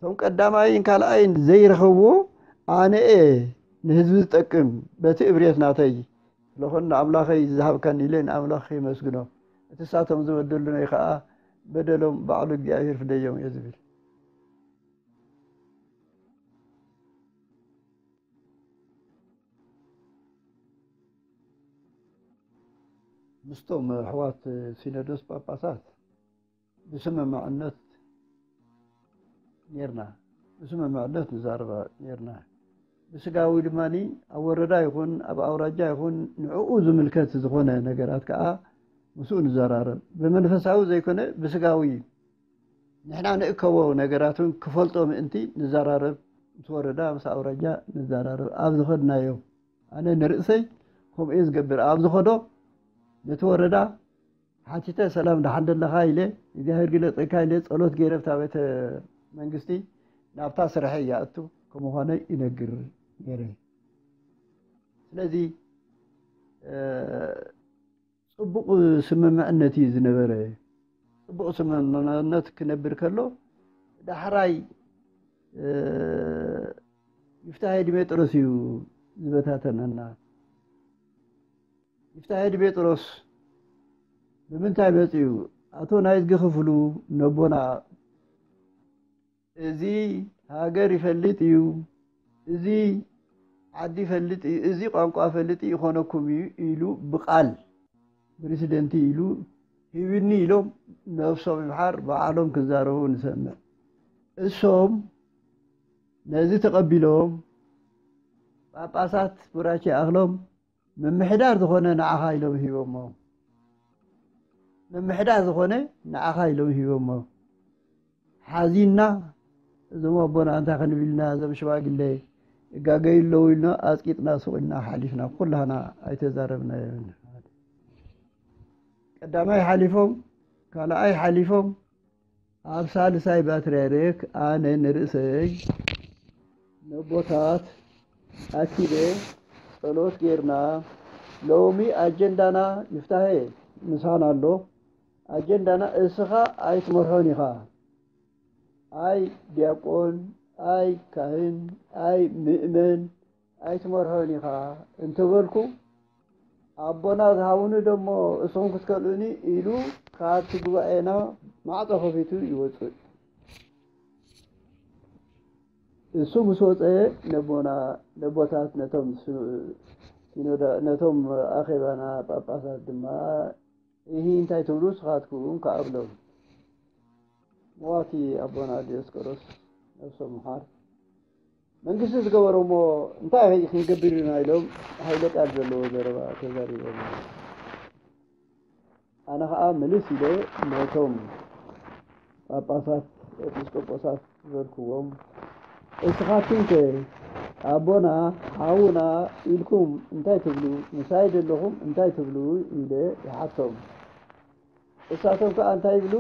እቶም ቀዳማይን ካልኣይን ዘይረኸብዎ ኣነ እየ ንህዝቢ ዝጠቅም በቲ እብርየት ናተይ ስለኾን ንኣምላኸይ ዝሃብካኒ ኢለ ንኣምላኽ የመስግኖ። እቲ ሳቶም ዝበደሉነይ ከዓ በደሎም ባዕሉ እግዚኣብሔር ፍደዮም እየ ዝብል። ምስቶም ኣሕዋት ሲኖዶስ ጳጳሳት ብስምምዕነት ኔርና፣ ብስምምዕነት ንዛረባ ኔርና። ብስጋዊ ድማ ኣብ ወረዳ ይኹን ኣብ ኣውራጃ ይኹን ንዕኡ ዝምልከት ዝኾነ ነገራት ከዓ ምስኡ ንዘራረብ። ብመንፈሳዊ ዘይኮነ ብስጋዊ ንሕና ንእከቦ ነገራት እውን ክፈልጦ ምእንቲ ንዘራረብ፣ ምስ ወረዳ ምስ ኣውራጃ ንዘራረብ። ኣብ ዝኸድናዮ ኣነ ንርእሰይ ከምኡ እየ ዝገብር። ኣብ ዝኸዶ ነቲ ወረዳ ሓቲተ ሰላም ደሓን ደለኻ ኢለ እግዚኣብሔር ግለፀልካ ኢለ ፀሎት ገይረ ብታ ቤተ መንግስቲ ናብታ ስርሐ ይኣቱ ከምዃነ ይነግር ነይረ። ስለዚ እ፣ ፅቡቕ ስምምዕነት እዩ ዝነበረ። ፅቡቕ ስምምዕነት ክነብር ከሎ ዳሕራይ እ፣ ይፍታሄ ዲሜጥሮስ እዩ ዝበታተነና። ይፍታሄ ዲሜጥሮስ ብምንታይ መፅኡ? ኣቶ ናይዝጊ ክፍሉ ነቦና እዚ ሃገር ይፈልጥ እዩ፣ እዚ ዓዲ ይፈልጥ እዩ፣ እዚ ቋንቋ ይፈልጥ እዩ፣ ይኾነኩም እዩ ኢሉ ብቓል ፕሬዚደንቲ ኢሉ ሂብኒ ኢሎም ነብሶም ይምሓር ባዕሎም ክዛረቡ ንሰምዕ። እሶም ነዚ ተቐቢሎም ጳጳሳት ቡራኬ ይኣኽሎም ምምሕዳር ዝኾነ ንዓኻ ኢሎም ሂቦሞ። ምምሕዳር ዝኾነ ንዓኻ ኢሎም ሂቦሞ። ሓዚንና እዞም ኣቦና እንታይ ክንብል ኢና፣ እዞም ሽማግለ ይጋገዩ ኣለዉ ኢልና ኣፅቂጥና ስቕ ኢልና ሓሊፍና፣ ኩላህና ኣይተዛረብናዮን። ቀዳማይ ሓሊፎም፣ ካልኣይ ሓሊፎም፣ ኣብ ሳልሳይ ፓትርያርክ ኣነ ንርእሰይ ነቦታት ኣኪበ ጸሎት ጌርና፣ ሎሚ ኣጀንዳና ይፍታሄ ምሳና ኣሎ። ኣጀንዳና እስኻ ኣይትመርሖን ኢኻ። ኣይ ዲያቆን፣ ኣይ ካህን፣ ኣይ ምእመን ኣይትመርሖን ኢኻ እንተበልኩ፣ ኣቦና ዝሃቡኒ ደሞ እሶም ክትከልኡኒ ኢሉ ካብቲ ጉባኤና ማዕጾ ከፊቱ ይወጽእ። እሱ ምስ ወጸ ነቦና፣ ነቦታት ነቶም ስ-፣ ሲኖዳ-፣ ነቶም ኣኼባና ጳጳሳት ድማ፣ "እሂ እንታይ ትብሉ ንስኻትኩም?" ከኣ ብሎም። መዋቲ ኣቦና ዲዮስቆሮስ ነብሶም ምሓር፣ መንግስቲ ዝገበሮ እሞ እንታይ ክንገብር ኢና ኢሎም ሃይለ ቃል ዘለዎ ዘረባ ተዛሪቦም። ኣነ ኸዓ ምልስ ኢለ ነቶም ጳጳሳት፣ ኤጲስቆጶሳት ዝበልክዎም፣ "እስኻትኩም ከ ኣቦና፣ ሓውና ኢልኩም እንታይ ትብሉ? ምሳይ ዘለኹም እንታይ ትብሉ?" ኢለ ይሓቶም። እሳቶም ከኣ እንታይ ይብሉ?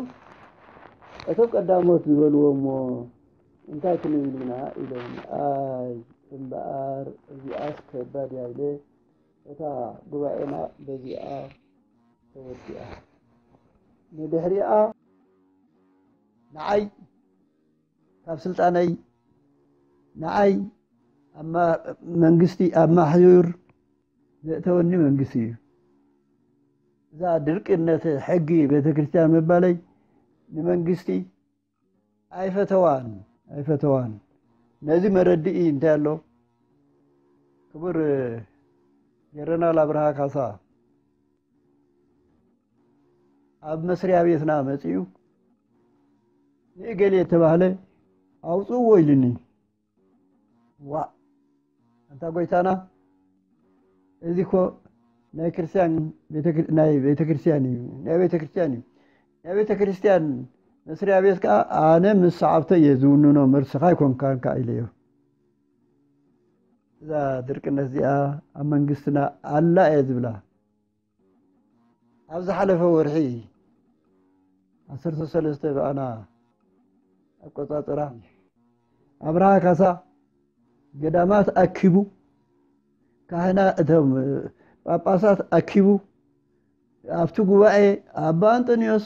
እቶም ቀዳሞት ዝበልዎ እሞ እንታይ ክንብል ኢና ኢሎም። ኣይ እምበኣር እዚኣስ ከባድ እያ ኢለ እታ ጉባኤና በዚኣ ተወዲኣ። ንድሕሪኣ ንዓይ ካብ ስልጣነይ ንዓይ ኣብ ማ-፣ መንግስቲ ኣብ ማሕዩር ዘእተወኒ መንግስቲ እዩ። እዛ ድርቅነት ሕጊ ቤተክርስትያን ምባለይ ንመንግስቲ ኣይፈተዋን፣ ኣይፈተዋን። ነዚ መረድኢ እንታይ ኣሎ? ክቡር ጀነራል ኣብርሃ ካሳ ኣብ መስሪያ ቤትና መጺኡ ንእገሌ የተባህለ ኣውጽእዎ ኢሉኒ። ዋእ! ኣንታ ጎይታና፣ እዚ እኮ ናይ ክርስትያን ቤተክር-፣ ናይ ቤተክርስትያን እዩ፣ ናይ ቤተክርስትያን እዩ። ናይ ቤተክርስትያን መስሪያ ቤት ከኣ ኣነ ምስ ሰዓብተይ እየ ዝውንኖ፣ መርስኻ ኣይኮንካን ከኣ ኢለዮ። እዛ ድርቅነት እዚኣ ኣብ መንግስትና ኣላ እየ ዝብላ። ኣብ ዝሓለፈ ወርሒ ዓሰርተ ሰለስተ ብኣና ኣቆጻጽራ ኣብርሃ ካሳ ገዳማት ኣኪቡ፣ ካህና-፣ እቶም ጳጳሳት ኣኪቡ፣ ኣብቲ ጉባኤ ኣባ ኣንጠንዮስ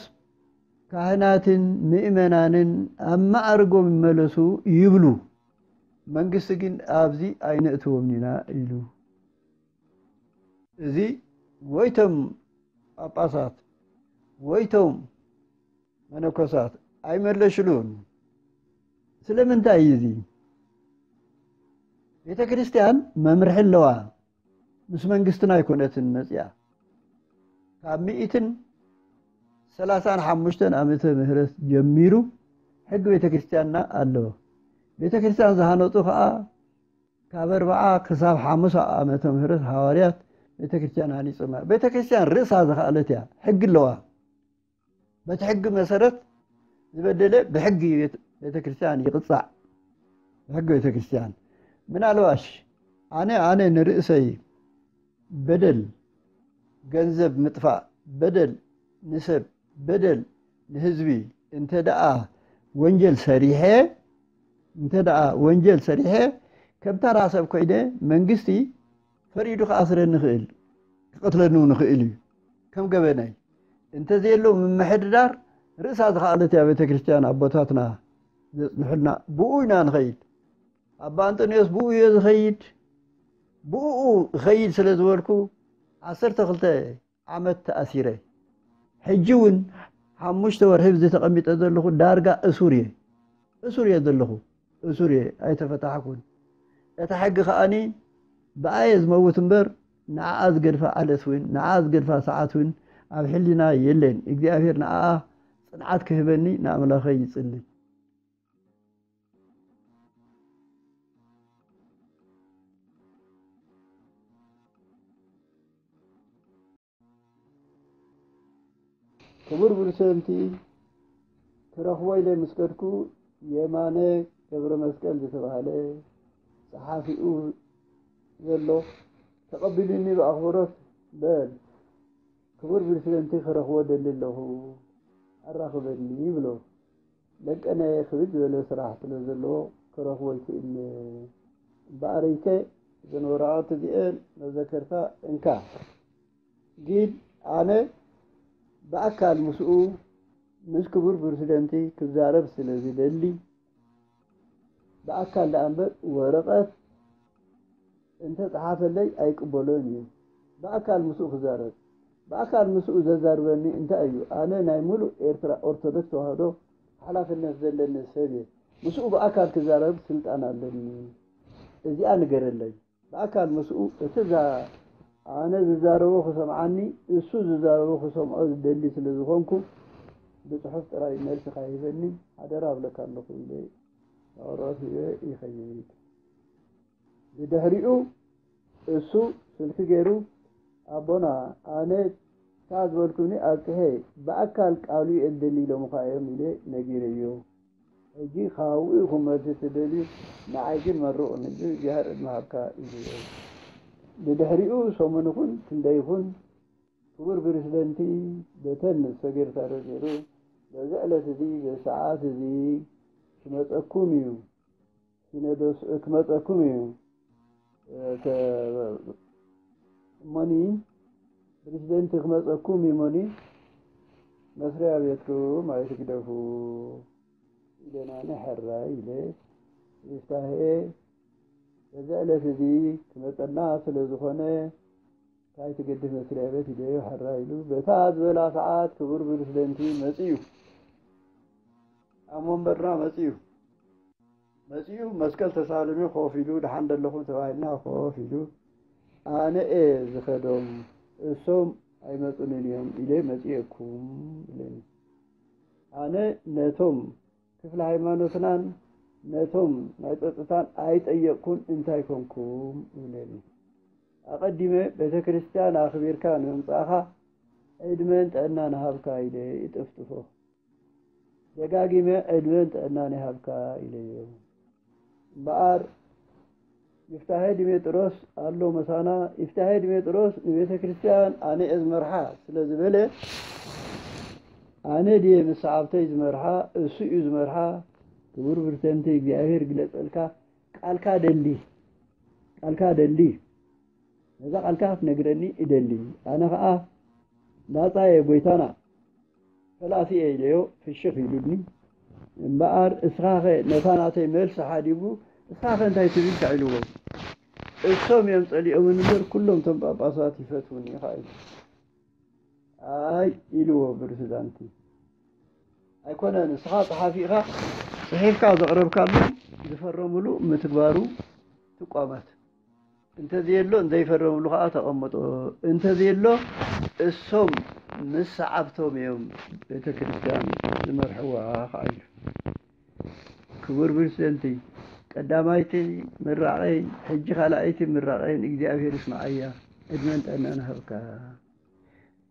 ካህናትን ምእመናንን ኣብ ማዕርጎም ይመለሱ ይብሉ። መንግስቲ ግን ኣብዚ ኣይነእትዎም ኢና ኢሉ። እዚ ወይቶም ጳጳሳት ወይቶም መነኮሳት ኣይመለሽሉን። ስለምንታይ እዩ እዚ? ቤተ ክርስቲያን መምርሒ ኣለዋ። ምስ መንግስትና ኣይኮነትን መጽያ። ካብ ሚእትን ሰላሳን ሓሙሽተን ዓመተ ምህረት ጀሚሩ ሕጊ ቤተ ክርስቲያንና ኣሎ። ቤተ ክርስቲያን ዝሃነጹ ኸኣ ካብ ኣርብዓ ክሳብ ሓሙሳ ዓመተ ምህረት ሃዋርያት ቤተ ክርስቲያን ሃኒጾማ። ቤተ ክርስቲያን ርእሳ ዝኸኣለት እያ። ሕጊ ኣለዋ። በቲ ሕጊ መሰረት ዝበደለ ብሕጊ ቤተ ክርስቲያን ይቕጻዕ። ብሕጊ ቤተ ክርስቲያን። ምናልባሽ ኣነ ኣነ ንርእሰይ በደል፣ ገንዘብ ምጥፋእ፣ በደል ንሰብ፣ በደል ንህዝቢ እንተ ደኣ ወንጀል ሰሪሐ እንተ ደኣ ወንጀል ሰሪሐ ከም ተራ ሰብ ኮይነ መንግስቲ ፈሪዱ ክኣስረኒ ይኽእል፣ ክቐትለኒ እውን ይኽእል እዩ። ከም ገበነይ እንተዘየሎ ምምሕድዳር ርእሳ ዝኸኣለት እያ ቤተ ክርስቲያን ኣቦታትና ዘጽንሑልና። ብኡ ኢና ንኸይድ። ኣባ ኣንጠንዮስ ብኡ እየ ዝኸይድ። ብኡ እኸይድ ስለ ዝበልኩ ዓሰርተ ክልተ ዓመት ተኣሲረ። ሕጂ እውን ሓሙሽተ ወርሒ ብዚ ተቐሚጠ ዘለኹ ዳርጋ እሱር እየ። እሱር እየ ዘለኹ። እሱር እየ፣ ኣይተፈታሕኩን። እታ ሕጊ ከኣኒ ብኣየ ዝመውት እምበር ንዓኣ ዝገድፋ ዓለት እውን ንዓኣ ዝገድፋ ሰዓት እውን ኣብ ሕሊና የለን። እግዚኣብሔር ንዓኣ ጽንዓት ክህበኒ ንኣምላኸይ ይጽሊ። ክቡር ፕሬዝደንቲ፣ ክረኽቦ ኢለ ምስ ከድኩ፣ የማነ ገብረ መስቀል ዝተባህለ ጸሓፊኡ ዘሎ ተቐቢሉኒ ብኣኽብሮት፣ "በል ክቡር ፕሬዝደንቲ ክረኽቦ ደሊ ኣለኹ፣ ኣራኽበኒ" ይብሎ። ለቀነ ክብድ ዝበለ ስራሕ ስለ ዘለዎ ክረኽቦ ኣይክእልን። እምበኣር ኢተ እዘን ወረቓቕቲ እዚኤን መዘከርታ እንካ። ግን ኣነ ብኣካል ምስኡ፣ ምስ ክቡር ፕሬዝደንቲ ክዛረብ ስለ ዝደሊ፣ ብኣካል ደኣ እምበር ወረቐት እንተ ጸሓፈለይ ኣይቅበሎን እዩ። ብኣካል ምስኡ ክዛረብ። ብኣካል ምስኡ ዘዛርበኒ እንታይ እዩ? ኣነ ናይ ምሉእ ኤርትራ ኦርቶዶክስ ተዋህዶ ሓላፍነት ዘለኒ ሰብ እየ። ምስኡ ብኣካል ክዛረብ ስልጣን ኣለኒ። እዚኣ ንገረለይ። ብኣካል ምስኡ እቲ ዛ-፣ ኣነ ዝዛረቦ ክሰምዓኒ፣ እሱ ዝዛረቦ ክሰምዖ ዝደሊ ስለ ዝኾንኩ፣ ብጽሑፍ ጥራይ መልሲ ካይህበኒ ሓደራ እብለካ ኣለኹ ኢለ ንቐረበት ሂበ ይኸይድ። ብድሕሪኡ እሱ ስልኪ ገይሩ፣ "ኣቦና፣ ኣነ እታ ዝበልኩኒ ኣብጽሐ፣ ብኣካል ቃሉ እየ ዝደሊ ኢሎምኻ እዮም" ኢለ ነጊረዮ። ሕጂ ካብኡ ኢኹም መልሲ ትደልዩ፣ ንዓይ ግን መርቑኒ፣ ግን እግዚኣብሔር ዕድመ ሃብካ ኢለዮ። ብድሕሪኡ ሰሙን ይኹን ክንደይ ይኹን ክቡር ፕሬዝደንቲ በተን ሰገርታ ዶ ገይሩ፣ "በዚ ዕለት እዚ፣ በዚ ሰዓት እዚ ክመጸኩም እዩ፣ ሲኖዶስ ክመጸኩም እዩ፣ እ፣ ከ-፣ እሞኒ ፕሬዝደንቲ ክመጸኩም እዩ፣ እሞኒ መስሪያ ቤትኩም ኣይትግደፉ" ኢለና፣ "ሕራይ" ኢለ፣ "ይፍታሄ በዚ ዕለት እዚ ክመጸና ስለ ዝኾነ፣ እንታይ ትገድፍ መስሪያ ቤት?" ኢለዮ፣ "ሕራይ" ኢሉ። በታ ዝበላ ሰዓት ክቡር ፕሬዝደንቲ መጺኡ፣ ኣብ ወንበርና መጺኡ። መጺኡ መስቀል ተሳልሚ ኮፍ ኢሉ፣ "ደሓን ደለኹም?" ተባሂልና ኮፍ ኢሉ፣ "ኣነ እየ ዝኸዶም፣ እሶም ኣይመጹንን እዮም ኢለ መጺኤኩም" ኢለኒ። ኣነ ነቶም ክፍለ ሃይማኖትናን ነቶም ናይ ጸጥታን ኣይጠየቅኩን፣ "እንታይ ኮንኩም?" ይብለኒ። ኣቐዲመ ቤተ ክርስቲያን ኣኽቢርካ ንምምጻእኻ ዕድመን ጥዕናን ሃብካ ኢለ ይጥፍጥፎ። ደጋጊመ ዕድመን ጥዕናን ይሃብካ ኢለዮ። እምበኣር ይፍታሄ ዲሜጥሮስ ኣሎ መሳና። ይፍታሄ ዲሜጥሮስ ንቤተ ክርስቲያን ኣነ እየ ዝመርሓ ስለ ዝበለ፣ ኣነ ድየ ምስ ሰዓብተይ ዝመርሓ? እሱ እዩ ዝመርሓ። ክቡር ፕሬዝደንት፣ እግዚኣብሔር ግለጸልካ። ቃልካ ደሊ፣ ቃልካ ደሊ፣ ነዛ ቃልካ ክትነግረኒ እደሊ። ኣነ ኸኣ ናጻ እየ፣ ጎይታና። ፈላሲ እየ ኢለዮ፣ ፍሽኽ ኢሉኒ። እምበኣር እስኻኸ ነታ ናተይ መልሲ ሓዲጉ፣ እስኻኸ እንታይ ትብል ኢልካ ኢልዎ። እሶም እዮም ጸሊኦምን እምበር፣ ኩሎም እቶም ጳጳሳት ይፈትዉኒ ኢኻ ኢሉ። ኣይ ኢልዎ ፕሬዝዳንቲ። ኣይኮነን፣ ንስኻ ጸሓፊ ኢኻ፣ ጽሒፍካ ዘቕረብካሎም ዝፈረሙሉ ምትግባሩ ትቋመት። እንተዘየሎ ዘይፈረምሉ ከዓ ተቐመጦ። እንተዘየሎ እሶም ምስ ሰዓብቶም እዮም ቤተ ክርስቲያን ዝመርሕዋ ከዓ ኢሉ። ክቡር ፕሬዝደንቲ፣ ቀዳማይቲ ምራቐይ ሕጂ ካልኣይቲ ምራቐይን እግዚኣብሔር ይስምዓያ፣ ዕድመን ጥዕናን ይሃብካ።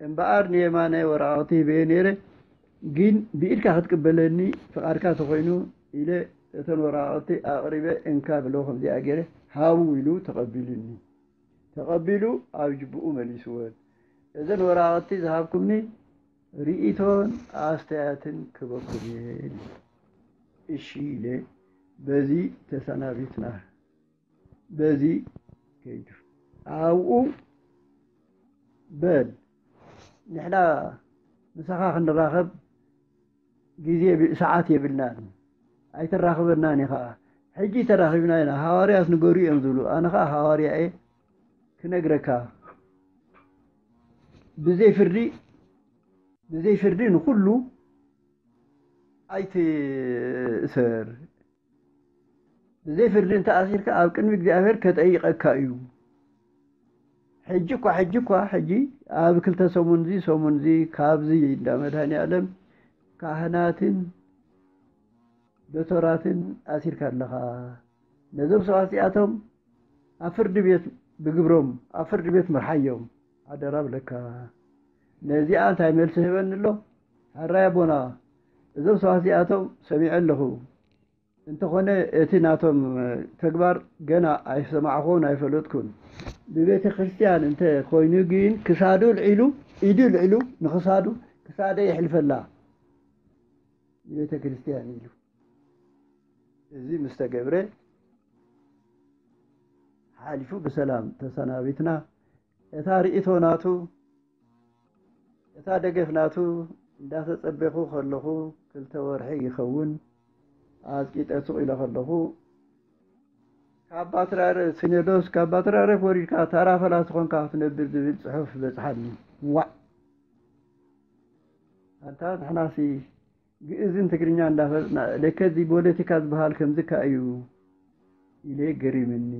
እምበኣር ንየማነ ወረቓቕቲ ሂበዮ ነይረ፣ ግን ብኢድካ ክትቅበለኒ ፍቓድካ ተኾይኑ ኢለ እተን ወረቓቕቲ ኣቕሪበ እንካ ብሎ ከምዚኣ ገይረ ሃቡ ኢሉ ተቐቢሉኒ። ተቐቢሉ ኣብ ጅብኡ መሊስወን። እዘን ወረቓቕቲ ዝሃብኩምኒ ርእይቶን ኣስተያየትን ክበኩም እየ። እሺ ኢለ በዚ ተሰናቢትና። በዚ ከይዱ ኣብኡ በል ንሕና ምሳኻ ክንራኸብ ግዜ የብ- ሰዓት የብልናን ኣይተራኽበናን ኢኻ። ሕጂ ተራኺብና ኢና፣ ሃዋርያት ንገሩ እዮም ዝብሉ። ኣነ ኸዓ ሃዋርያ እየ ክነግረካ። ብዘይ ፍርዲ ብዘይ ፍርዲ ንኹሉ ኣይትእሰር። ብዘይ ፍርዲ እንተኣሲርካ ኣብ ቅድሚ እግዚኣብሔር ከጠይቐካ እዩ። ሕጂ እኳ ሕጂ እኳ ሕጂ ኣብ ክልተ ሰሙንዚ ሰሙንዚ ካብዚ እንዳ መድሃኒ ዓለም ካህናትን ዶቶራትን ኣሲርካ ኣለኻ። ነዞም ሰባት እዚኣቶም ኣብ ፍርዲ ቤት ብግብሮም ኣብ ፍርዲ ቤት ምርሓዮም ኣደራ ብለካ። ነዚኣ እንታይ መልሲ ህበኒ ኣሎ? ሕራይ ኣቦና፣ እዞም ሰባት እዚኣቶም ሰሚዐ ኣለኹ። እንተኾነ እቲ ናቶም ተግባር ገና ኣይሰማዕኹን ኣይፈለጥኩን። ብቤተ ክርስቲያን እንተ ኮይኑ ግን ክሳዱ ልዒሉ ኢዱ ልዕሉ ንክሳዱ ክሳደ ይሕልፈላ ንቤተ ክርስቲያን ኢሉ። እዚ ምስ ተገብረ ሓሊፉ ብሰላም ተሰናቢትና። እታ ርእይቶ ናቱ እታ ደገፍ ናቱ እንዳተጸበኹ ከለኹ ክልተ ወርሒ ይኸውን ኣጽቂጠ ስቕ ኢለ ከለኹ ካብ ባትራረ ሲኖዶስ ካብ ባትራረ ወሪድካ ታራ ፈላሲ ኾንካ ክትነብር ዝብል ጽሑፍ በጽሓኒ። ዋዕ ኣንታ ንሕናሲ ግእዝን ትግርኛ እንዳፈለጥና ለከዚ ፖለቲካ ዝበሃል ከምዚ ከ እዩ ኢለ ገሪምኒ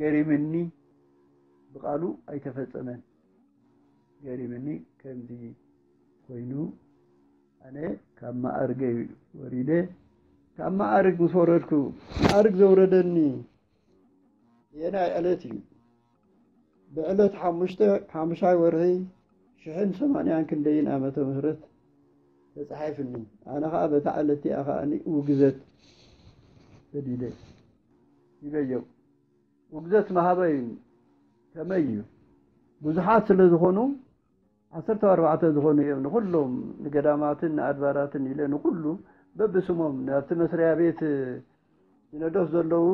ገሪምኒ ብቃሉ ኣይተፈጸመን። ገሪምኒ ከምዚ ኮይኑ ኣነ ካብ ማዕርገይ ወሪደ ካብ ማዕርግ ምስ ወረድኩ ማዕርግ ዘውረደኒ የናይ ዕለት እዩ። ብዕለት ሓሙሽተ ሓሙሻይ ወርሒ ሽሕን ሰማንያን ክንደይን ዓመተ ምህረት ተጻሒፍኒ። ኣነ ኸዓ በታ ዕለት እቲኣ ኸዓ ውግዘት ተዲለ ይበየው። ውግዘት መሃበይ ከመይ እዩ? ብዙሓት ስለ ዝኾኑ ዓሰርተ ኣርባዕተ ዝኾኑ እዮም ንኹሎም ንገዳማትን ንኣድባራትን ኢለ ንኹሉ በብስሞም ናብቲ መስሪያ ቤት ሲኖዶስ ዘለዉ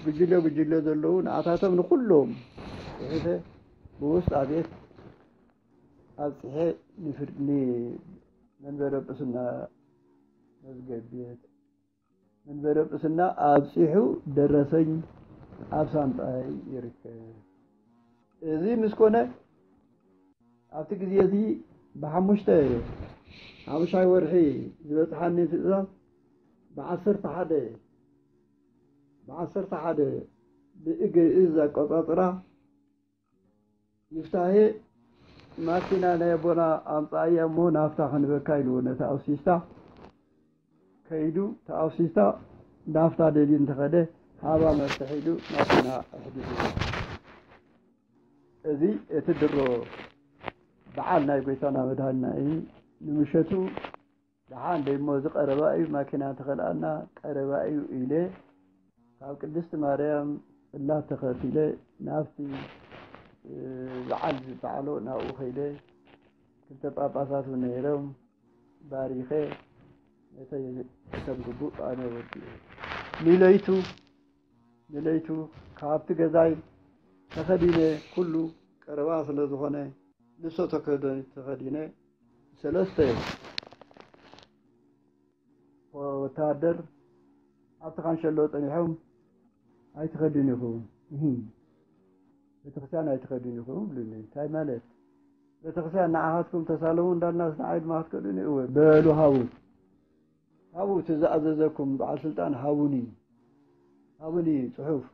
ጉጅለ ጉጅለ ዘለዉ ንኣታቶም ንኹሎም ጽሒፈ ብውስጣ ቤት ኣብጽሐ ንፍርድ ንመንበረ ጵስና መዝገብ ቤት መንበረ ጵስና ኣብጺሑ ደረሰኝ ኣብ ሳንጣይ ይርከብ። እዚ ምስ ኮነ ኣብቲ ግዜ እዚ ብሓሙሽተ ሓሙሻይ ወርሒ ዝበጽሓኒ ትእዛዝ ብዓሰርተ ሓደ ብዓሰርተ ሓደ ብእግእዝ ኣቆጻጽራ ይፍታሄ ማኪና ናይ ኣቦና ኣምጻእያ እሞ ናፍታ ክንበካ ኢልዎ ነቲ ኣውሲስታ ከይዱ ተኣውሲስታ ናፍታ ደልዩ እንተኸደ ሃባ መፍትሕ ኢሉ ማኪና ኣሕዲሩ። እዚ እቲ ድሮ በዓል ናይ ጎይታና መድሃኒና እዩ። ንምሸቱ ደሓን ደይሞ እዚ ቀረባ እዩ ማኪና እንተኸልኣና ቀረባ እዩ ኢለ ካብ ቅድስቲ ማርያም ጽላት ተኸቲለ ናብቲ በዓል ዝበዓሎ ናብኡ ከይደ ክልተ ጳጳሳት እውን ነይሮም ባሪኸ ነተይ ከም ግቡእ ኣነ ወዲኤ ንለይቱ ንለይቱ ካብቲ ገዛይ ተኸዲነ ኩሉ ቀረባ ስለ ዝኾነ ልብሰ ተከደኒት ተኸዲነ ሰለስተ ወታደር ኣብቲ ካንሸሎ ጸኒሖም፣ "ኣይትኸዱን ኢኹም፣ እሂ፣ ቤተክርስትያን ኣይትኸዱን ኢኹም" ብሉኒ። እንታይ ማለት? ቤተክርስትያን ንዓኻትኩም ተሳለሙ እንዳልናስ ንዓይ ድማ ክትከዱን? እወ፣ በሉ፣ ሃቡ፣ ሃቡ፣ እቲ ዝኣዘዘኩም በዓል ስልጣን ሃቡኒ፣ ሃቡኒ፣ ጽሑፍ፣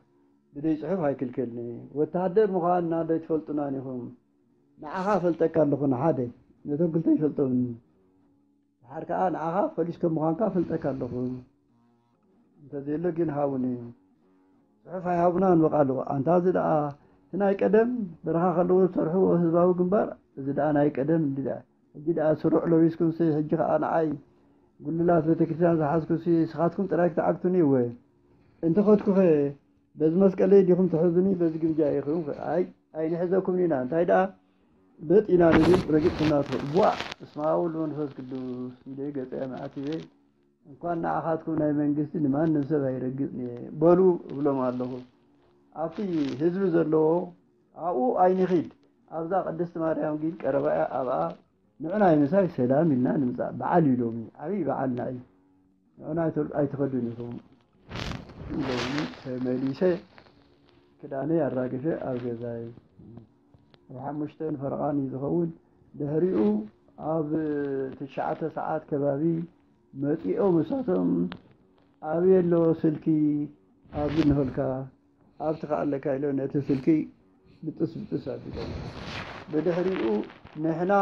ብደይ ጽሑፍ ኣይክልከልኒ። ወታደር ምዃንና ዶ ኣይትፈልጡናን ኢኹም? ንዓኻ ፈልጠካ ኣለኹ፣ ንሓደ፣ ነቶም ክልተ ይፈልጦምኒ። ድሓር ከኣ ንዓኻ ፖሊስ ከም ምዃንካ ፈልጠካ ኣለኹ። እንተዘየሎ ግን ሃቡኒ። ጽሑፍ ኣይሃቡናን በቃ ኣለዉ። ኣንታ እዚ ደኣ እቲ ናይ ቀደም በረኻ ከለዉ ዝሰርሕዎ ህዝባዊ ግንባር፣ እዚ ደኣ ናይ ቀደም እንዲ ደኣ። ሕጂ ደኣ ስሩዕ ለቢስኩምሲ፣ ሕጂ ከኣ ንዓይ ጉልላት ቤተክርስትያን ዝሓዝኩሲ፣ ንስኻትኩም ጥራይ ክትዓግቱኒ እወ። እንተኸድኩኸ በዚ መስቀለይ ዲኹም ትሕዙኒ፣ በዚ ግምጃ ኢኹም? ኣይ፣ ኣይንሕዘኩምን ኢና። እንታይ ደኣ በጥ ኢና ንብል፣ ረጊጽኩምና ትኸዱ። ቧእ! በስመ ኣብ ወወልድ ወመንፈስ ቅዱስ ኢለ ገጸ መዓቲበ፣ እንኳን ንዓኻትኩም ናይ መንግስቲ ንማንም ሰብ ኣይረግጽን እየ በሉ እብሎም ኣለኹ። ኣብቲ ህዝቢ ዘለዎ ኣብኡ ኣይንኺድ፣ ኣብዛ ቅድስቲ ማርያም ግን ቀረባ እያ፣ ኣብኣ ንዑናይ ምሳይ ሰላም ኢልና ንምጻእ። በዓል እዩ ሎሚ፣ ዓብዪ በዓልና እዩ። ንዑና ኣይተ-፣ ኣይትኸዱን ኢኹም ኢሎምኒ። ተመሊሰ ክዳነይ ኣራጊፈ ኣብ ገዛይ። ኣብ ሓሙሽተ ንፈረቓ እዩ ዝኸውን። ድሕሪኡ ኣብ ትሽዓተ ሰዓት ከባቢ መጺኦም እሳቶም፣ "ኣበይ ኣሎ ስልኪ? ኣብዚ እንሆልካ፣ ኣብቲ ከኣ ኣለካ" ኢሎም ነቲ ስልኪ ብጥስ ብጥስ ኣቢሎም። ብድሕሪኡ ንሕና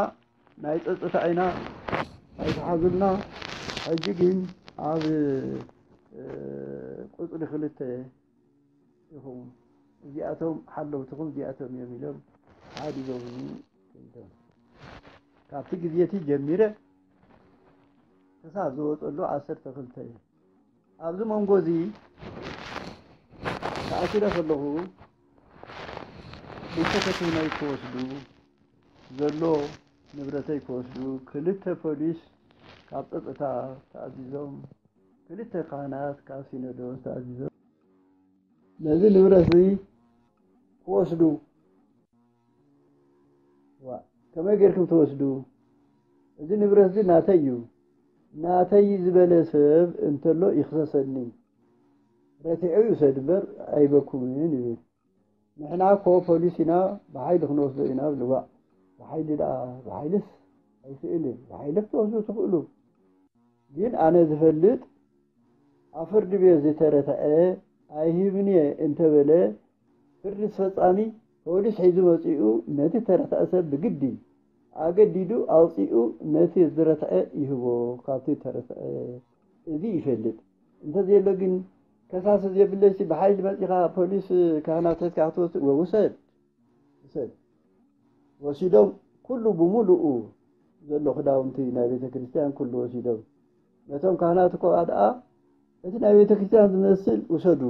ናይ ጸጥታ ኢና፣ ኣይትሓዙልና። ሕጂ ግን ኣብ፣ እ፣ ቁጽሪ ክልተ ኢኹም። እዚኣቶም ሓለውትኹም እዚኣቶም እዮም ኢሎም ሓዲጎምኒ ከይዶም። ካብቲ ግዜ እቲ ጀሚረ ክሳብ ዝወጸሉ ዓሰርተ ክልተ እዩ። ኣብዚ መንጎ እዚ ተኣሲረ ከለኹ ቤተክህነተይ ክወስዱ፣ ዘሎ ንብረተይ ክወስዱ ክልተ ፖሊስ ካብ ጸጥታ ተኣዚዞም፣ ክልተ ካህናት ካብ ሲኖዶስ ተኣዚዞም ነዚ ንብረት እዚ ክወስዱ። ዋ፣ ከመይ ጌርኩም ትወስዱ? እዚ ንብረት እዚ ናተይ እዩ። ናተይ ዝበለ ሰብ እንተሎ ይኽሰሰኒ። ረቲዑ ይውሰድ እምበር ኣይበኩምን ይብል። ንሕና እኮ ፖሊስ ኢና፣ ብሓይሊ ክንወስዶ ኢና ብልዋ። ብሓይሊ ደኣ፣ ብሓይልስ ኣይክእልን። ብሓይሊ ክትወስዱ ትኽእሉ። ግን ኣነ ዝፈልጥ ኣብ ፍርዲ ቤት ዝተረትዐ ኣይህብን እየ እንተበለ፣ ፍርዲ ፈጻሚ ፖሊስ ሒዙ መጺኡ ነቲ ተረትዐ ሰብ ብግዲ ኣገዲዱ ኣውጺኡ ነቲ ዝተረትዐ ይህቦ፣ ካብቲ ተረትዐ። እዚ ይፈልጥ። እንተዘየሎ ግን ከሳሲ ዘየብለይሲ ብሓይሊ መጺኻ ፖሊስ ካህናት ሒዝካ ክትወስድ፣ ውሰድ፣ ውሰድ። ወሲዶም ኩሉ ብምሉኡ ዘሎ ክዳውንቲ ናይ ቤተ ክርስቲያን ኩሉ ወሲዶም። ነቶም ካህናት እኮ ደኣ እቲ ናይ ቤተ ክርስቲያን ዝመስል ውሰዱ፣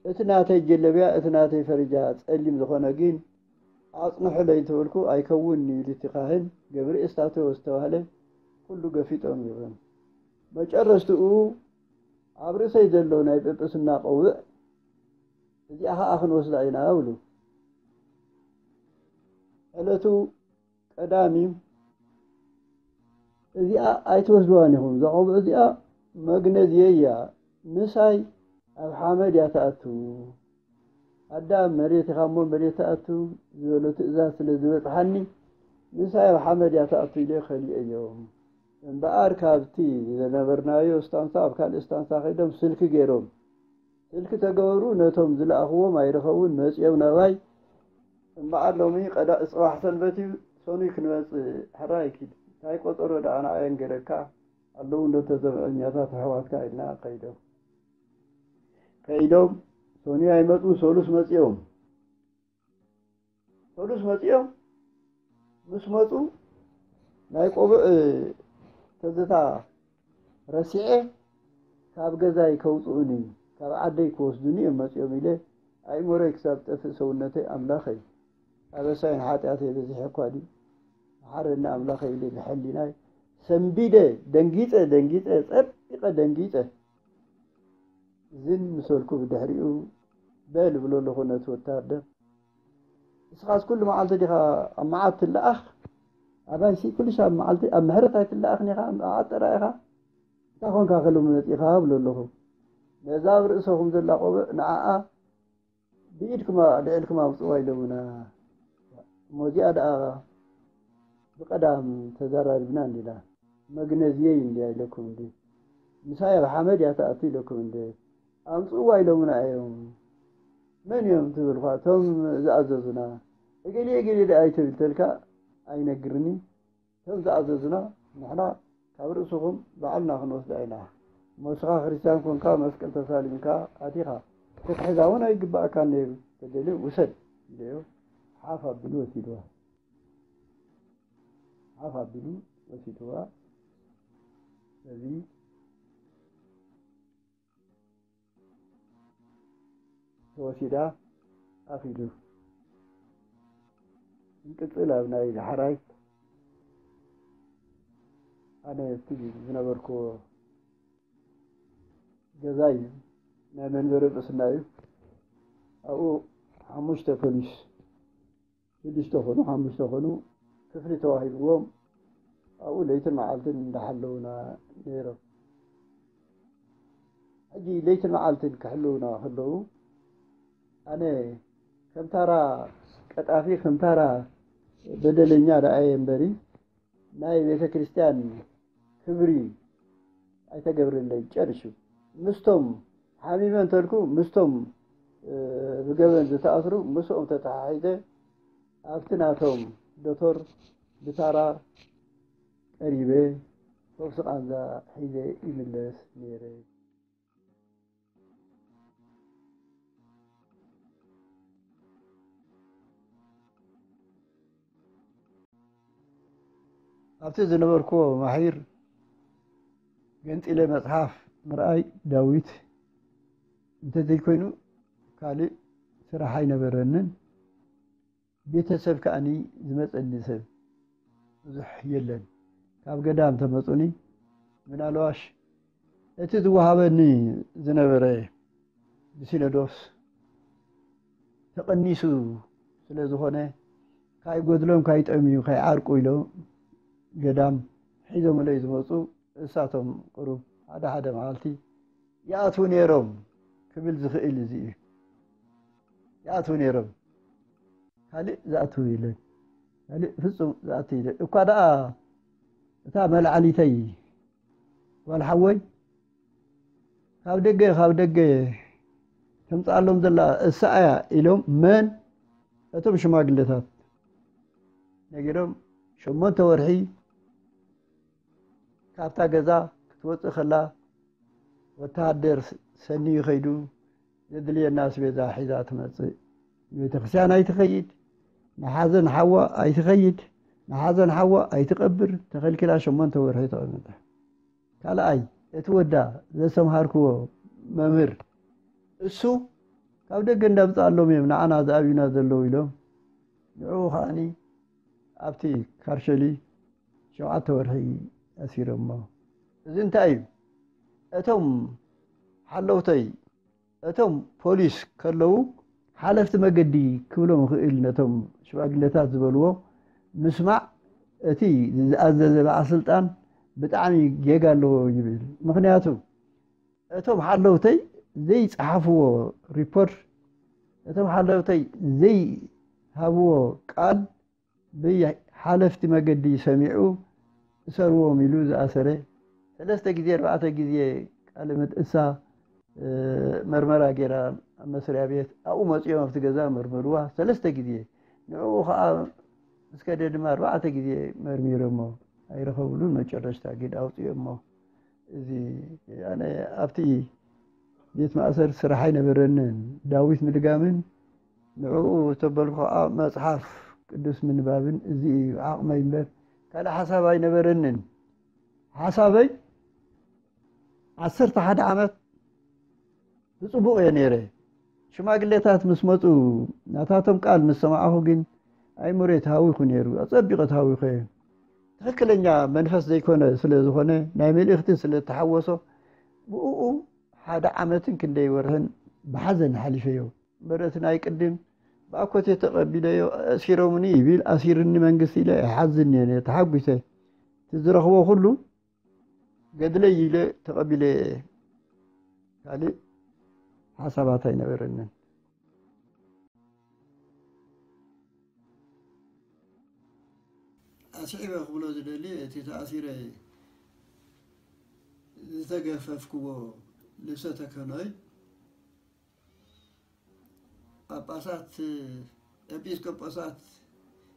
እቲ ናተይ ጀለብያ፣ እቲ ናተይ ፈሪጃ ጸሊም ዝኾነ ግን ኣጽንሑለይ እንተበልኩ፣ "ኣይከውንን" ኢሉ እቲ ካህን ገብርኤል ስታቶ ዝተባህለ ኩሉ ገፊጦም ይብሎም። መጨረሽትኡ ኣብ ርእሰይ ዘሎ ናይ ጵጵስና ቆውዕ፣ "እዚኣ ኸኣ ክንወስዳ ኢና" ብሉ። ዕለቱ ቀዳም እዩ። "እዚኣ ኣይትወስድዋን ኢኹም፣ እዛ ቆብዕ እዚኣ መግነዝየይ እያ፣ ምሳይ ኣብ ሓመድ እያ ትኣቱ። ኣዳም መሬት ኢኻ እሞ መሬት ትኣቱ" ዝበሎ ትእዛዝ ስለ ዝበጽሓኒ፣ "ምሳይ ኣብ ሓመድ እያ ትኣቱ" ኢለ ከሊኤዮም። እምበኣር ካብቲ ዝነበርናዮ ስታንሳ ኣብ ካልእ ስታንሳ ከይዶም ስልኪ ገይሮም። ስልኪ ተገበሩ፣ ነቶም ዝለኣኽዎም ኣይረኸቡን፣ መጺኦም ናባይ። እምበኣር ሎሚ ቀዳ-፣ ጽባሕ ሰንበት እዩ፣ ሰኑይ ክንመጽእ፣ ሕራይ ኪድ። እንታይ ቆጸሮ ደኣ ንዓይ ኣንገረካ? ኣለዉ እንዶ ተዘብዐኛታት ኣሕዋትካ ኢልና ከይዶም። ከይዶም፣ ሰኑይ ኣይመጹ፣ ሰሉስ መጺኦም። ሰሉስ መጺኦም፣ ምስ መጹ ናይ ቆብዕ ትዝታ ረሲዐ፣ ካብ ገዛይ ከውጽኡኒ፣ ካብ ዓደይ ክወስዱኒ እዮም መጺኦም ኢለ፣ ኣእምሮይ ክሳብ ጠፍእ ሰውነተይ ኣምላኸይ፣ ኣበሳይን ሓጢኣተይ በዚሐ እኳ ድዩ? መሓረኒ ኣምላኸይ ኢለ ብሕሊናይ ሰንቢደ፣ ደንጊጸ፣ ደንጊጸ፣ ጸቢቐ ደንጊጸ። ዝን ምስ በልኩ ብድሕሪኡ፣ "በል" እብሎ ኣለኹ ነቲ ወታደር፣ "ንስኻስ ኩሉ መዓልቲ ዲኻ ኣብ መዓት ትለኣኽ? ኣባይሲ ኩሉ ሻብ መዓልቲ ኣብ ምሕረት ኣይትለኣኽን ኢኻ፣ ኣብ ዓጠራ ኢኻ። እንታይ ኾንካ ከሎሚ መጺኻ እብሎ ኣለኹ። ነዛ ኣብ ርእሰኹም ዘላ ቆብዕ ንዓኣ ብኢድኩም ኣልዒልኩም ኣምጽዋ ኢሎምና። እሞ እዚኣ ደኣ ብቐዳም ተዘራሪብና እንዲና። መግነዝየይ እንድያ ኢለኩም እንዲ። ምሳይ ኣብ ሓመድ እያ ትኣቱ ኢለኩም እንዲ። ኣምጽዋ ኢሎምና እዮም። መን እዮም ትብል ኳ? እቶም ዝኣዘዙና። እገሌ እገሌ ደኣ ኣይትብል ተልካ ኣይነግርኒ። እቶም ዝኣዘዙና ንሕና ካብ ርእስኹም ባዕልና ክንወስዳ ኢና። እሞ ንስኻ ክርስትያን ኮንካ መስቀል ተሳሊምካ ኣቲኻ። ክትሕዛ እውን ኣይግባእካን ነይሩ። ተደልዩ ውሰድ ኢለዮ። ሓፍ ኣቢሉ ወሲድዋ። ሓፍ ኣቢሉ ወሲድዋ። ስለዚ ተወሲዳ ኣፍ ኢሉ። እንቅጽል ኣብ ናይ ዳሕራይ ኣነ እቲ ዝነበርኩዎ ገዛ እዩ። ናይ መንበሪ ርእስና እዩ። ኣብኡ ሓሙሽተ ፖሊስ፣ ሽዱሽተ ኾኑ፣ ሓሙሽተ ኾኑ፣ ክፍሊ ተዋሂብዎም ኣብኡ ለይትን መዓልትን እንዳሓለዉና ነይሮም። ሕጂ ለይትን መዓልትን ክሕልዉና ከለዉ፣ ኣነ ከም ታራ ቀጣፊ፣ ከም ታራ በደለኛ ደኣ እየ እምበሪ፣ ናይ ቤተ ክርስቲያን ክብሪ ኣይተገብረለይ ጨርሹ። ምስቶም ሓሚመ እንተልኩ፣ ምስቶም፣ እ፣ ብገበን ዝተኣስሩ፣ ምስኦም ተተሓሒዘ ኣብቲ ናቶም ዶቶር ብታራ ቀሪበ ፈውሲ ቃንዛ ሒዘ ይምለስ ነይረ። ኣብቲ ዝነበርኩዎ ማሒር ገንጺለ መጽሓፍ ምርኣይ ዳዊት እንተዘይኮይኑ ካልእ ስራሕ ኣይነበረንን። ቤተሰብ ከኣኒ ዝመጸኒ ሰብ ብዙሕ የለን። ካብ ገዳም ተመጹኒ ምናልባሽ እቲ ዝወሃበኒ ዝነበረ ብሲኖዶስ ተቐኒሱ ስለ ዝኾነ፣ ካይጎድሎም፣ ካይጠምዩ፣ ካይዓርቁ ኢሎም ገዳም ሒዞምለይ ዝመጹ እሳቶም ቁሩብ ሓደ ሓደ መዓልቲ ይኣትዉ ነይሮም ክብል ዝኽእል እዚ እዩ። ይኣትዉ ነይሮም። ካልእ ዝኣትዉ የለን። ካልእ ፍጹም ዝኣትዉ የለን። እኳ ደኣ እታ መልዓሊተይ ጓል ሓወይ ካብ ደገ፣ ካብ ደገ ተምጽኣሎም ዘላ እሳ እያ ኢሎም መን? እቶም ሽማግለታት ነጊሮም፣ ሸሞንተ ወርሒ ካብታ ገዛ ክትወጽእ ከላ ወተሃደር ሰንዩ ከይዱ ዘድልየና ኣስቤዛ ሒዛ ትመጽእ። ንቤተክርስትያን ኣይትኸይድ፣ ንሓዘን ሓዋ ኣይትኸይድ፣ ንሓዘን ሓዋ ኣይትቐብር፣ ተኸልኪላ ሸሞንተ ወርሒ ተቐመጠ። ካልኣይ፣ እቲ ወዳ ዘስተምሃርክዎ መምህር፣ እሱ ካብ ደገ እንዳምጽኣሎም እዮም ንዓና ዝኣብዩና ዘለዉ ኢሎም፣ ንዕኡ ከኣኒ ኣብቲ ካርሸሊ ሸውዓተ ወርሒ ኣሲሮሞ። እዚ እንታይ እዩ? እቶም ሓለውተይ፣ እቶም ፖሊስ ከለዉ ሓለፍቲ መገዲ ክብሎም ይኽእል፣ ነቶም ሽማግለታት ዝበልዎ ምስማዕ እቲ ዝኣዘዘ በዓል ስልጣን ብጣዕሚ ጌጋ ኣለዎ ይብል። ምኽንያቱ እቶም ሓለውተይ ዘይጸሓፍዎ ሪፖርት፣ እቶም ሓለውተይ ዘይሃብዎ ቃል ብሓለፍቲ መገዲ ሰሚዑ እሰርዎም ኢሉ ዝኣሰረ፣ ሰለስተ ግዜ ኣርባዕተ ግዜ ቃለ ምልእሳ፣ እ፣ መርመራ ጌራ ኣብ መስሪያ ቤት ኣብኡ መጺኦም ኣብቲ ገዛ መርመርዋ ሰለስተ ግዜ። ንዕኡ ኸኣ ምስ ከደ ድማ ኣርባዕተ ግዜ መርሚሮሞ ኣይረኸብሉን። መጨረሽታ ግን ኣውጽኦሞ። እዚ ኣነ ኣብቲ ቤት ማእሰር ስራሕ ኣይነበረንን። ዳዊት ምድጋምን ንዕኡ ተበልኩ ኸኣ መጽሓፍ ቅዱስ ምንባብን እዚ እዩ ዓቕመይ እምበር ካልእ ሓሳብ ኣይነበረንን። ሓሳበይ ዓሰርተ ሓደ ዓመት ብጽቡቕ እየ ነይረ። ሽማግሌታት ምስ መጹ ናታቶም ቃል ምስ ሰማዕኹ ግን ኣይምሮይ ተሃዊኹ ነይሩ። ኣጸቢቐ ተሃዊኸ እየ። ትኽክለኛ መንፈስ ዘይኮነ ስለ ዝኾነ ናይ መልእኽቲ ስለ እተሓወሶ ብእኡ ሓደ ዓመትን ክንደይ ወርሕን ብሓዘን ሓሊፈዮ። እምበር እቲ ናይ ቅድም ብኣኮቴ ተቐቢለዮ፣ ኣሲሮምኒ ይብል፣ ኣሲርኒ መንግስቲ ኢለ ኣይሓዝን እየ፣ ተሓጒሰ። እቲ ዝረኽቦ ኩሉ ገድለይ ኢለ ተቐቢለ፣ ካልእ ሓሳባት ኣይነበረንን። ኣስዒበ ክብሎ ዝደሊ፣ እቲ ተኣሲረ ዝተገፈፍክዎ ልብሰ ተክህኖይ፣ ጳጳሳት፣ ኤጲስቆጶሳት፣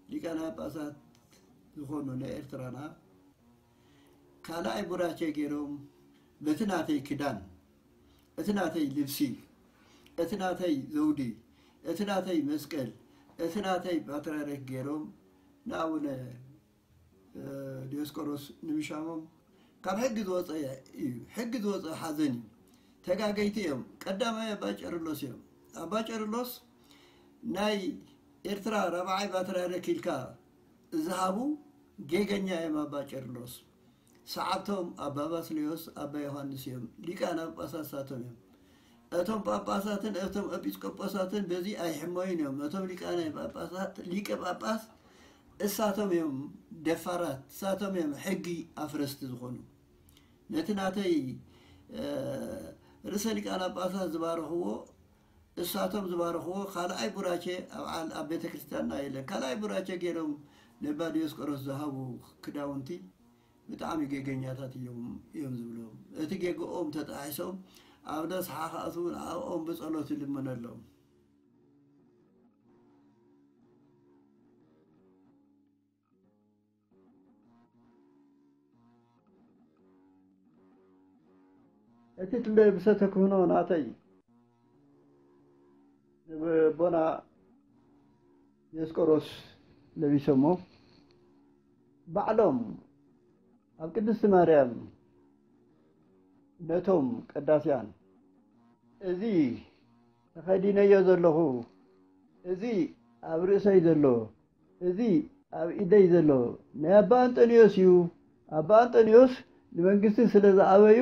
ሊቃነ ጳጳሳት ዝኾኑ ናይ ኤርትራና ካልኣይ ቡራኬ ገይሮም፣ በቲ ናተይ ክዳን፣ እቲ ናተይ ልብሲ፣ እቲ ናተይ ዘውዲ፣ እቲ ናተይ መስቀል፣ እቲ ናተይ ፓትርያርክ ገይሮም ንኣቡነ ዲዮስቆሮስ ንምሻሞም ካብ ሕጊ ዝወፀ እዩ። ሕጊ ዝወፀ ሓዘን እዩ። ተጋገይቲ እዮም። ቀዳማይ ኣባ ቄርሎስ እዮም። ኣባ ቄርሎስ ናይ ኤርትራ ራብዓይ ፓትርያርክ ኢልካ ዝሃቡ ጌገኛ እዮም። ኣባ ቄርሎስ ሰዓብቶም ኣባ ባስልዮስ ኣባ ዮሃንስ እዮም። ሊቃነ ጳጳሳት እሳቶም እዮም። እቶም ጳጳሳትን እቶም ኤጲስቆጶሳትን በዚ ኣይሕመዩን እዮም። እቶም ሊቃነ ጳጳሳት፣ ሊቀ ጳጳስ እሳቶም እዮም ደፋራት፣ እሳቶም እዮም ሕጊ ኣፍረስቲ ዝኾኑ። ነቲ ናተይ፣ እ፣ ርእሰ ሊቃነ ጳጳሳት ዝባረኽዎ፣ እሳቶም ዝባረኽዎ ካልኣይ ቡራኬ ኣብ ዓል-፣ ኣብ ቤተ ክርስቲያንና የለን። ካልኣይ ቡራኬ ገይሮም ነባ ዲዮስቆሮስ ዝሃቡ ክዳውንቲ ብጣዕሚ ጌገኛታት እዮም፣ እዮም ዝብሎም። እቲ ጌግኦም ተጣሒሶም ኣብ ነስሓ ክኣትዉ ንዕኦም ብጸሎት ይልምነሎም። እቲ ልብሰ ተክህኖ ናተይ ንቦና ዲዮስቆሮስ ለቢሶሞ፣ ባዕሎም ኣብ ቅድስቲ ማርያም ነቶም ቀዳስያን፣ እዚ ተኸዲነዮ ዘለኹ፣ እዚ ኣብ ርእሰይ ዘሎ፣ እዚ ኣብ ኢደይ ዘሎ ናይ ኣባ ኣንጠንዮስ እዩ። ኣባ ኣንጠንዮስ ንመንግስቲ ስለ ዝኣበዩ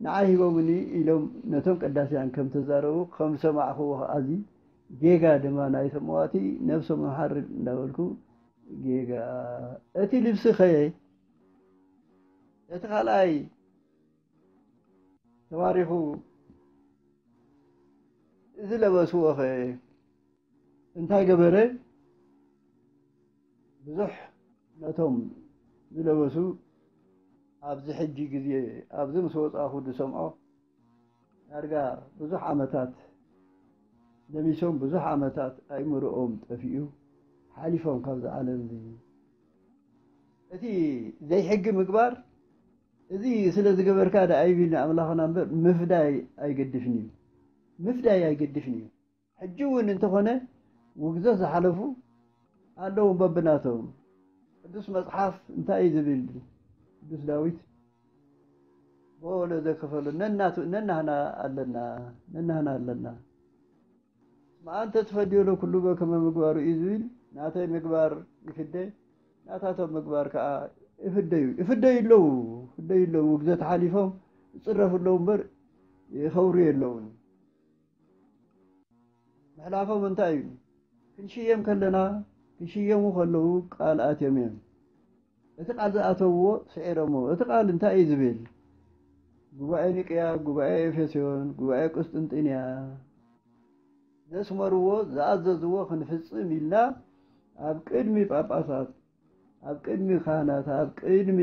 ንዓይ ሂቦምኒ ኢሎም ነቶም ቀዳስያን ከም ተዛረቡ ከም ዝሰማዕኽዎ ከኣ፣ እዚ ጌጋ ድማ ናይ ሰማዋቲ ነብሶም ይሓርድ እንዳበልኩ፣ ጌጋ። እቲ ልብሲ ኸ፣ እቲ ካልኣይ ተባሪኹ ዝለበስዎ ኸ እንታይ ገበረ? ብዙሕ ነቶም ዝለበሱ ኣብዚ ሕጂ ግዜ፣ ኣብዚ ምስ ወጻኹ ዝሰምዖ፣ ዳርጋ ብዙሕ ዓመታት ለሚሶም፣ ብዙሕ ዓመታት ኣእምሮኦም ጠፊኡ፣ ሓሊፎም ካብዚ ዓለም እዚ። እቲ ዘይሕጊ ምግባር፣ እዚ ስለ ዝገበርካ ደኣ ኣይብል ንኣምላኽና እምበር፣ ምፍዳይ ኣይገድፍን እዩ። ምፍዳይ ኣይገድፍን እዩ። ሕጂ እውን እንተኾነ፣ ውግዘት ዝሓለፉ ኣለዉ በብናቶም። ቅዱስ መጽሓፍ እንታይ እዩ ዝብል? ቅዱስ ዳዊት፣ "ብኦ ለዘከፈሉ ነናቱ-፣ ነናህና ኣለና፣ ነናህና ኣለና። እስመ አንተ ትፈድዮ ለኩሉ በከመ ምግባሩ" እዩ ዝብል። ናተይ ምግባር ይፍደ፣ ናታቶም ምግባር ከኣ ይፍደዩ፣ ይፍደዩ ኣለዉ፣ ይፍደዩ ኣለዉ። ውግዘት ሓሊፎም ይጽረፉ ኣለዉ እምበር ይኸብሩ የለዉን። ምሕላፎም እንታይ እዩ? ክንሽየም ከለና፣ ክሽየሙ ከለዉ ቃል ኣትዮም እዮም። እቲ ቃል ዝኣተውዎ ስዒሮምዎ። እቲ ቃል እንታይ እዩ ዝብል? ጉባኤ ኒቅያ፣ ጉባኤ ኤፌሶን፣ ጉባኤ ቁስጥንጥንያ ዘስመርዎ፣ ዝኣዘዝዎ ክንፍጽም ኢልና ኣብ ቅድሚ ጳጳሳት፣ ኣብ ቅድሚ ካህናት፣ ኣብ ቅድሚ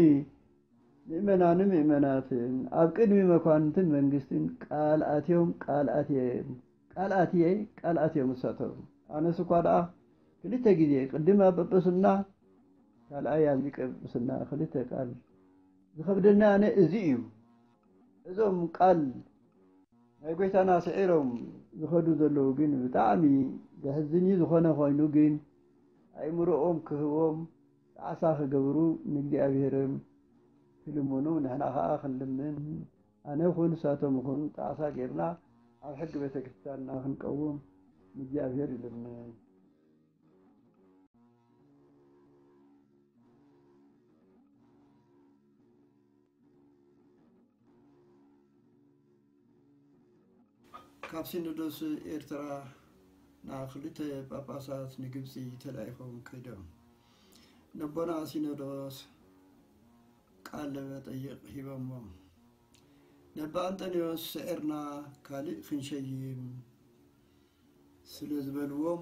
ምእመናንን ምእመናትን፣ ኣብ ቅድሚ መኳንንትን መንግስትን ቃል ኣትዮም፣ ቃል ኣትየ፣ ቃል ኣትየ፣ ቃል ኣትዮም እሳቶም። ኣነስ እኳ ደኣ ክልተ ግዜ፣ ቅድም ኣብ ጵጵስና፣ ካልኣይ ኣብ ሊቀ ጵጵስና ክልተ ቃል ዝኸብደኒ ኣነ እዚ እዩ። እዞም ቃል ናይ ጎይታና ስዒሮም ዝኸዱ ዘለዉ ግን ብጣዕሚ ዘሕዝን እዩ። ዝኾነ ኮይኑ ግን ኣእምሮኦም ክህቦም ጣዕሳ ክገብሩ ንእግዚኣብሔርም ክልምኑ ንሕና ኸኣ ክንልምን፣ ኣነ ይኹን ንሳቶም ይኹን ጣዕሳ ጌርና ኣብ ሕጊ ቤተ ክርስቲያንና ክንቀውም ንእግዚኣብሔር ይልምን። ካብ ሲኖዶስ ኤርትራ ናብ ክልተ ጳጳሳት ንግብፂ ተላኢኾም ከይዶም ነቦና ሲኖዶስ ቃለ መጠይቕ ሂቦሞም። ነባ ኣንጠንዮስ ስዒርና ካልእ ክንሸይም ስለ ዝበልዎም፣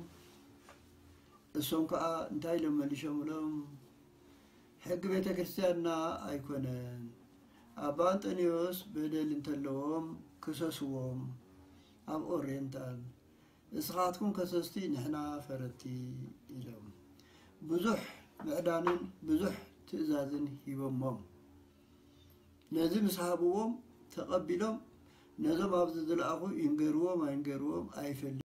እሶም ከኣ እንታይ ኢሎም መሊሾምሎም? ሕጊ ቤተ ክርስቲያንና ኣይኮነን። ኣባ ኣንጠንዮስ በደል እንተለዎም ክሰስዎም ኣብ ኦሪየንታል፣ እስኻትኩም ከሰስቲ ንሕና ፈረድቲ ኢሎም ብዙሕ ምዕዳንን ብዙሕ ትእዛዝን ሂቦሞም። ነዚ ምስ ሃብዎም ተቐቢሎም ነዞም ኣብዚ ዝለኣኹ ይንገርዎም ኣይንገርዎም ኣይፈልጥን።